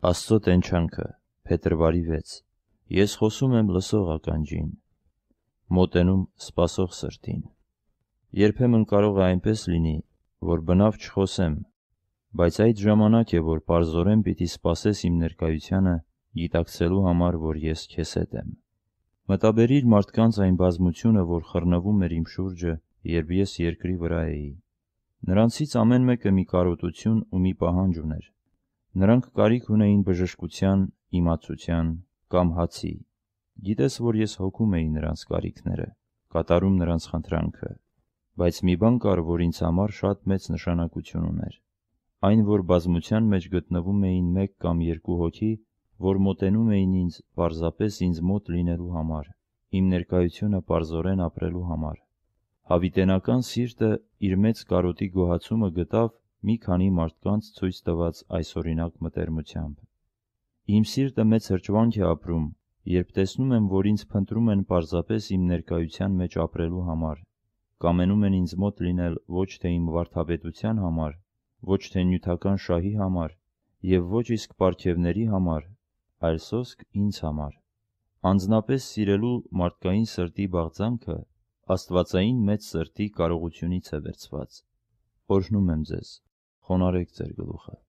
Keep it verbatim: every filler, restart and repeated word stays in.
Աստծո տենչանքը, փետրվարի վեց Ես խոսում եմ լսող ականջին, մոտենում սպասող սրտին։ Երբեմն կարող է այնպես լինի, որ բնավ չխոսեմ, բայց այդ ժամանակ է, որ պարզորեն պիտի սպասես իմ ներկայությանը, գիտակցելու համար, որ ես քեզ հետ եմ։ Մտաբերիր մարդկանց այն բազմությունը, որ խռնվում էր իմ շուրջը, երբ ես երկրի վրա էի։ Նրանցից ամեն մեկը մի կարոտություն ու մի պահանջ ուներ։ Նրանք կարիք ունեին բժշկության, իմացության կամ հացի։ Գիտես, որ ես հոգում էի նրանց կարիքները, կատարում նրանց խնդրանքը, բայց մի բան կար, որ ինձ համար շատ մեծ նշանակություն ուներ։ Այն, որ բազմության մեջ գտնվում էին մեկ կամ երկու հոգի, որ մոտենում էին ինձ պարզապես ինձ մոտ լինելու համար, իմ ներկայությունը պարզորեն ապրելու համար։ Հավիտենական սիրտը իր մեծ կարոտի գոհացումը գտավ մի քանի մարդկանց ցույց տված այսօրինակ մտերմությամբ։ Իմ սիրտը մեծ հրճվանք է ապրում, երբ տեսնում եմ, որ ինձ փնտրում են պարզապես իմ ներկայության մեջ ապրելու համար, կամենում են ինձ մոտ լինել ոչ թե իմ վարդապետության համար, ոչ թե նյութական շահի համար և ոչ իսկ պարգևների համար, այլ սոսկ ինձ համար։ Անձնապես սիրելու մարդկային սրտի բաղձանքը աստվածային մեծ սրտի կարողությունից է վերցված։ Օրհնում եմ ձեզ, խոնարհեք ձեր գլուխը։